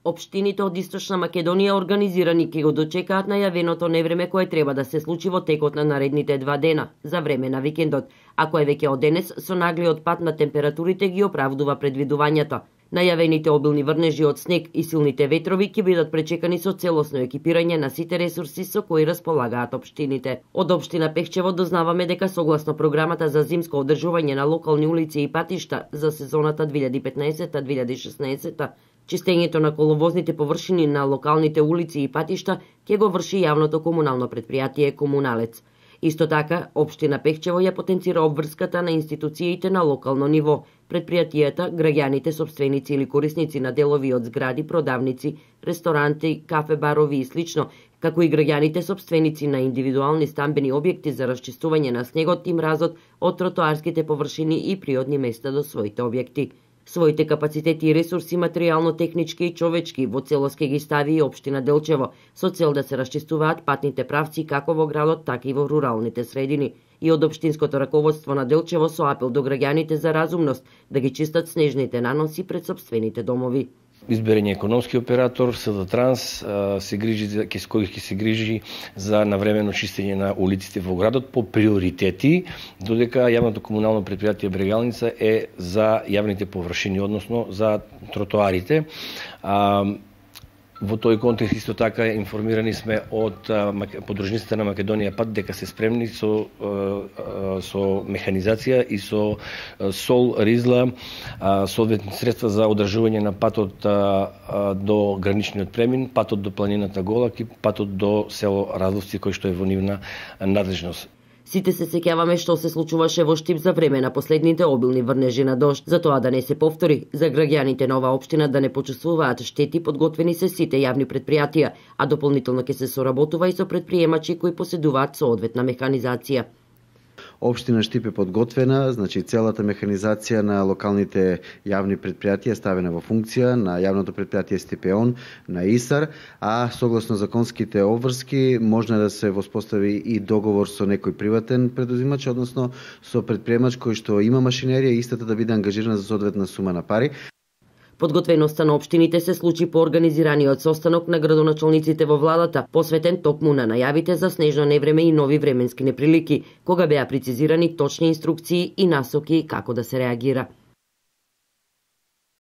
Општините од Источна Македонија организирани ќе го дочекаат најавеното невреме кое треба да се случи во текот на наредните 2 дена, за време на викендот, а кое веќе од денес со наглиот пад на температурите ги оправдува предвидувањата. Најавените обилни врнежи од снег и силните ветрови ќе бидат пречекани со целосно екипирање на сите ресурси со кои располагаат општините. Од општина Пехчево дознаваме дека согласно програмата за зимско одржување на локални улици и патишта за сезоната 2015-2016, чистењето на коловозните површини на локалните улици и патишта ќе го врши јавното комунално предпријатие Комуналец. Исто така, општина Пехчево ја потенцира обврската на институциите на локално ниво, предпријатијата, граѓаните сопственици или корисници на делови од згради, продавници, ресторанти, кафе, барови и слично, како и граѓаните сопственици на индивидуални стамбени објекти за расчистување на снегот и мразот од тротоарските површини и приодни места до своите објекти. Своите капацитети и ресурси материјално-технички и човечки во целост ќе ги стави и општина Делчево, со цел да се расчистуваат патните правци како во градот, така и во руралните средини. И од општинското раководство на Делчево со апел до граѓаните за разумност да ги чистат снежните наноси пред сопствените домови. Изберен е економски оператор, СД Транс, кој ќе се грижи за навремено чистење на улиците во градот по приоритети, додека јавното комунално предпријатие Брегалница е за јавните површини, односно за тротоарите. Во тој контекст исто така информирани сме од подружниците на Македонија Пат дека се спремни со механизација и со сол, ризла, соодветни средства за одржување на патот до граничниот премин, патот до планината Голак и патот до село Разловци, кој што е во нивна надлежност. Сите се сеќаваме што се случуваше во Штип за време на последните обилни врнежи на дожд. За тоа да не се повтори, за граѓаните на оваа општина да не почувствуваат штети, подготвени се сите јавни предпријатија, а дополнително ќе се соработува и со предприемачи кои поседуваат соодветна механизација. Општина Штип е подготвена, значи целата механизација на локалните јавни предпријатија е ставена во функција на јавното предпријатие Стипеон, на ИСАР, а согласно законските обврски можно да се воспостави и договор со некој приватен предузимач, односно со предприемач кој што има машинерија и истата да биде ангажирана за соодветна сума на пари. Подготвеноста на општините се случи по организираниот состанок на градоначалниците во владата, посветен токму на најавите за снежно невреме и нови временски неприлики, кога беа прецизирани точни инструкции и насоки како да се реагира.